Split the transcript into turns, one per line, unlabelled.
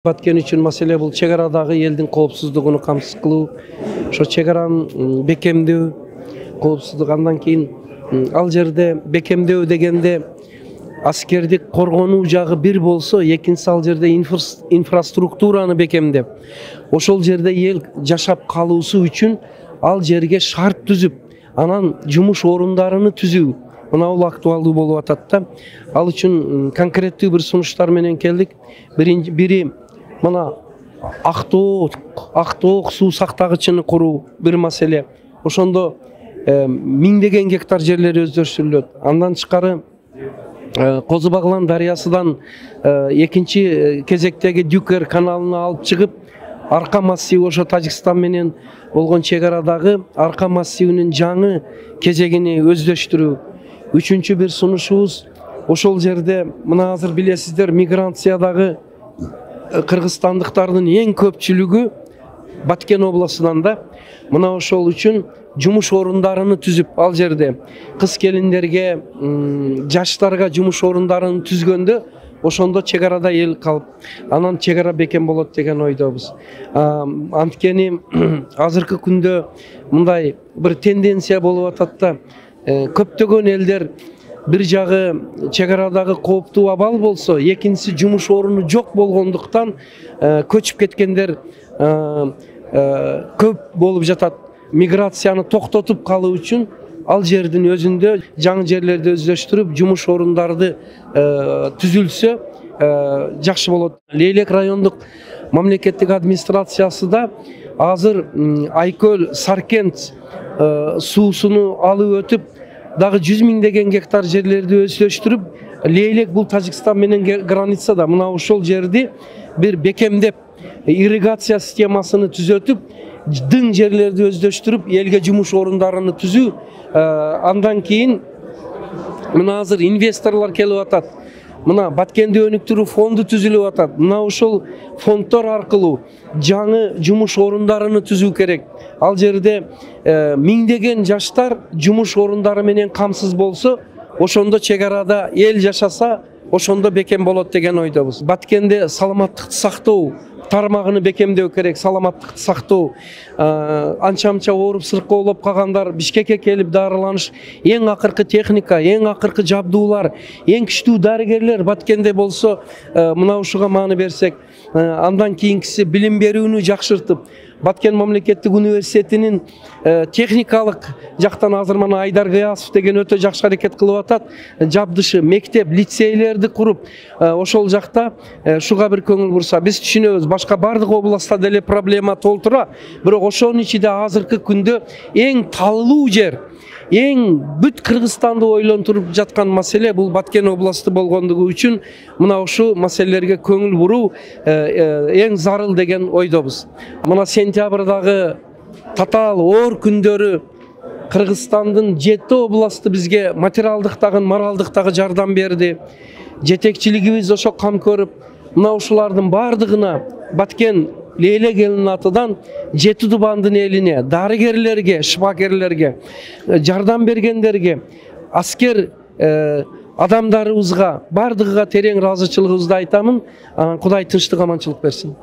Баткен үчүн маселе бул чек арадагы элдин коопсуздугун камсыз кылуу, ошо чек аранын бекемдөө, коопсуздук. Андан кийин ал жерде бекемдөө дегенде аскердик коргонуу жагы бир болсо, экинчиси ал жерде инфраструктураны бекемдеп, ошол жерде эл жашап калуусу үчүн ал жерге шарт түзүп, анан жумуш орундарыны түзүү. Мына бул актуалдуу болуп атат да. Ал үчүн конкреттүү бир сунуштар менен келдик. Бири мына Актоок суу сактагычын куруу бир маселе. Ошондо миңдеген гектар жерлери өздөштүрүлөт. Андан тышкары Козу Баглан дарыясынан экинчи кезектеги Дюкер каналына алып чыгып, Арка массиви, ошо Тажикстан менен болгон чек арадагы Арка массивинин жаңы кезегини өздөштүрүү. Үчүнчү бир сунушубуз ошол жерде мына азыр билесиздер, миграциядагы кыргызстандыктардын эң көпчүлүгү Баткен областынан да. Мына ошол үчүн жумуш орундарын түзүп, ал жерде кыз келиндерге, жаштарга жумуш орундарын түзгөндө, ошондо чек арада эл калып, анан чек ара бекем болот деген ойдобуз. Анткени азыркы күндө мындай бир тенденция болуп атат да. Көптөгөн элдер бир жагы чек арадагы кооптуу абал болсо, экинчиси жумуш оруну жок болгондуктан көчүп кеткендер көп болуп жатат. Миграцияны токтотуп калуу үчүн ал жердин өзүндө жаңы жерлерди өздөштүрүп, жумуш орундарды түзүлсө жакшы болот. Лейлек райондук мамлекеттик администрациясы да азыр Айкөл Саркент суусуну алып өтүп, дагы 100 миңдеген гектар жерлерди өздөштүрүп, Лейлек бул Тажикстан менен границада, мына ошол жерди бир бекемдеп, ирригация системасыны түзөтүп, дың жерлерди өздөштүрүп, элге жумуш орундарын түзүү. Андан кийин мына азыр инвесторлор келип атат. Мына Баткенди өнүктүрүү фонду түзүлүп атат. Мына ошол фонддор аркылуу жаңы жумуш орундарын түзүү керек. Ал жерде миңдеген жаштар жумуш орундары менен камсыз болсо, ошондо чек арада эл жашаса, ошондо бекем болот деген ойдобуз. Баткенде саламаттыкты сактоо тармагын бекемдөө керек. Саламаттыкты сактоо, анча-мынча ооруп сыркоолоп калгандар Бишкекке келип дарыланыш, эң акыркы техника, эң акыркы жабдуулар, эң күчтүү дарыгерлер Баткенде болсо, мына ушуга маани берсек, андан кийинкиси билим берүүнү жакшыртып, Баткен мамлекеттик университетинин техникалык жактан азыр мына Айдар Гыясов деген өтө жакшы аракет кылып атат. Жабдышы, мектеп, лицейлерди куруп, ошол жакта шуга бир көңүл бурса, биз түшүнөбүз, башка бардык областта деле проблема толтура, бирок ошонун ичинде азыркы күндө эң талуу жер, эң бүт Кыргызстанды ойлонтуруп жаткан маселе бул Баткен областы болгондугу үчүн мына ушул маселелерге көңүл буруу эң зарыл деген ойдобуз. Мына сентябрдагы татаал оор күндөрү Кыргызстандын 7 областы бизге материалдык дагы, моралдык дагы жардам берди. Жетекчилигибиз ошо кам көрүп, мына ушулардын бардыгына Баткен Лейлек элинин атынан 7 тубандын элине, дарыгерлерге, шифакерлерге, жардам бергендерге, аскер адамдарыбызга бардыгыга терең ыраазычылыгыбызды айтамын. Кудай тынчтык, аманчылык берсин.